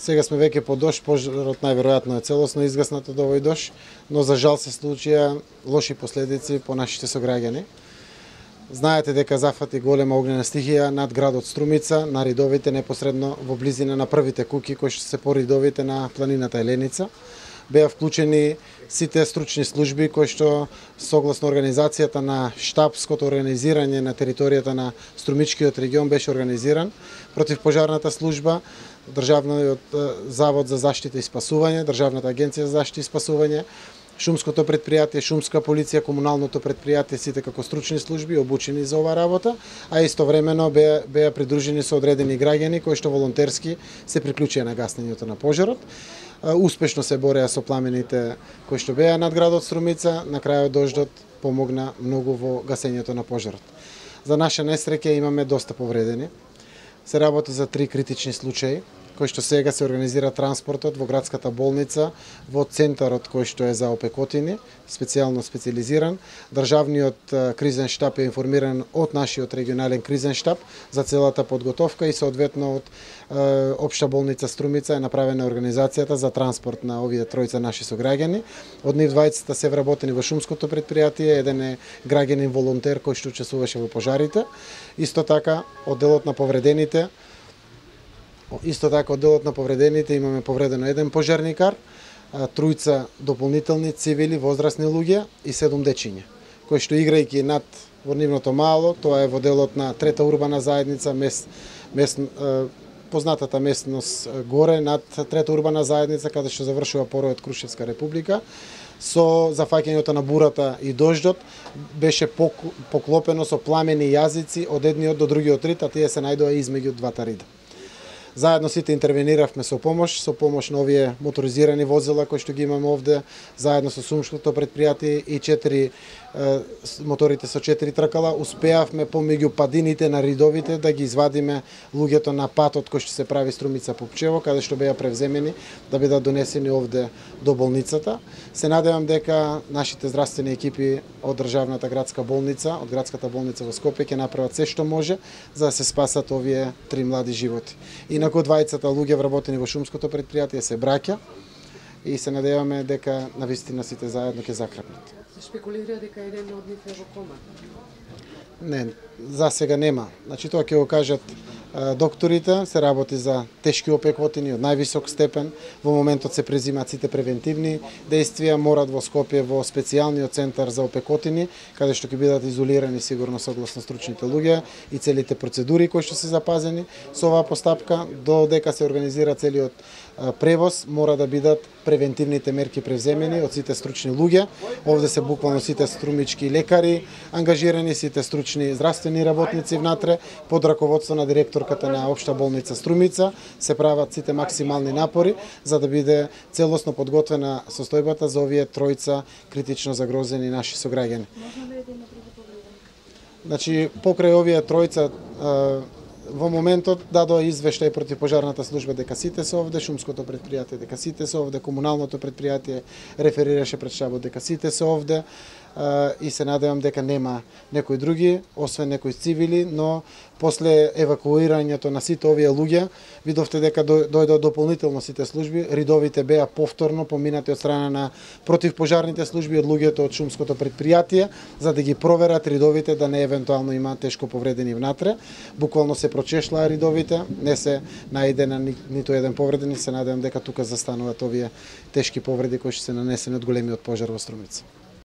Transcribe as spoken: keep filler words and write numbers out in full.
Сега сме веќе под дожд, пожарот најверојатно е целосно изгаснат од овој дожд, но за жал се случија лоши последици по нашите сограѓани. Знаете дека зафати голема огнена стихија над градот Струмица, на ридовите непосредно во близина на првите куки кои што се по ридовите на планината Еленица. Беа вклучени сите стручни служби кои што согласно организацијата на штабското организирање на територијата на Струмичкиот регион беше организиран, противпожарната служба, Државниот завод за заштита и спасување, Државната агенција за заштита и спасување, Шумското предпријатие, Шумска полиција, комуналното предпријатие, сите како стручни служби обучени за оваа работа, а истовремено беа, беа придружени со одредени граѓани кои што волонтерски се приклучија на гаснењето на пожарот. Успешно се бореа со пламените кои што беа над градот Струмица, на крајот дождот помогна многу во гасењето на пожарот. За наша несреќа имаме доста повредени. Се работи за три критични случаи, кој што сега се организира транспортот во градската болница, во центарот кој што е за опекотини, специјално специализиран. Државниот кризен штаб е информиран од нашиот регионален кризен штаб за целата подготовка и соодветно од е, Општа болница Струмица е направена организацијата за транспорт на овие тројца наши сограѓани. Од нив двајцата се вработени во Шумското предпријатие, еден е граѓанин волонтер кој што учествуваше во пожарите. Исто така, одделот на повредените Исто така од делот на повредените имаме повредено еден пожарникар, тројца дополнителни цивили, возрастни луѓе и седум дечиња, кои што играјќи над во нивното мало, тоа е во делот на трета урбана заедница, мест, мест, познатата местност горе над трета урбана заедница, каде што завршува поројот Крушевска република, со зафаќањето на бурата и дождот, беше поклопено со пламени јазици од едниот до другиот рид, а тие се најдоа измеѓу двата рида. Заедно сите интервениравме со помош, со помош на овие моторизирани возила кои што ги имаме овде, заедно со Шумското предпријатие и четири е, моторите со четири тркала, успеавме помеѓу падините на ридовите да ги извадиме луѓето на патот кој што се прави Струмица-Попчево, каде што беа превземени да бидат донесени овде до болницата. Се надевам дека нашите здравствени екипи од Државната градска болница, од градската болница во Скопје ќе направат се што може за да се спасат овие три млади животи. Инаку двајцата луѓе вработени во Шумското предпријатие се браќа и се надеваме дека навистина сите заедно ќе закрепнат. Се шпекулира дека еден од нив е во кома? Не, за сега нема. Значи тоа ќе го кажат а, докторите, се работи за тешки опекотини од највисок степен. Во моментот се презимаат сите превентивни действија, морат во Скопје во специјалниот центар за опекотини, каде што ќе бидат изолирани сигурно согласно стручните луѓе и целите процедури кои што се запазени со оваа постапка, додека се организира целиот а, превоз, мора да бидат превентивните мерки превземени од сите стручни луѓе. Овде се буквално сите струмички лекари ангажирани, сите стручни здравствени работници внатре, под раководство на директорката на Општа болница Струмица, се прават сите максимални напори за да биде целосно подготвена состојбата за овие тројца критично загрозени наши сограѓани. Значи, покрај овие тројца во моментот дадоа извештај противпожарната служба дека сите се овде, Шумското предпријатие дека сите се овде, комуналното предпријатие реферираше пред штабот дека сите се овде и се надевам дека нема некои други, освен некои цивили, но после евакуирањето на сите овие луѓе, видовте дека дојдоа дополнително сите служби, ридовите беа повторно поминати од страна на противпожарните служби од луѓето од Шумското предпријатие, за да ги проверат ридовите да не евентуално има тешко повредени внатре. Буквално се прочешлаа ридовите, не се најдена ни, ниту еден повреден и се надевам дека тука застануваат овие тешки повреди кои што се нанесени од големиот пожар во Струмица.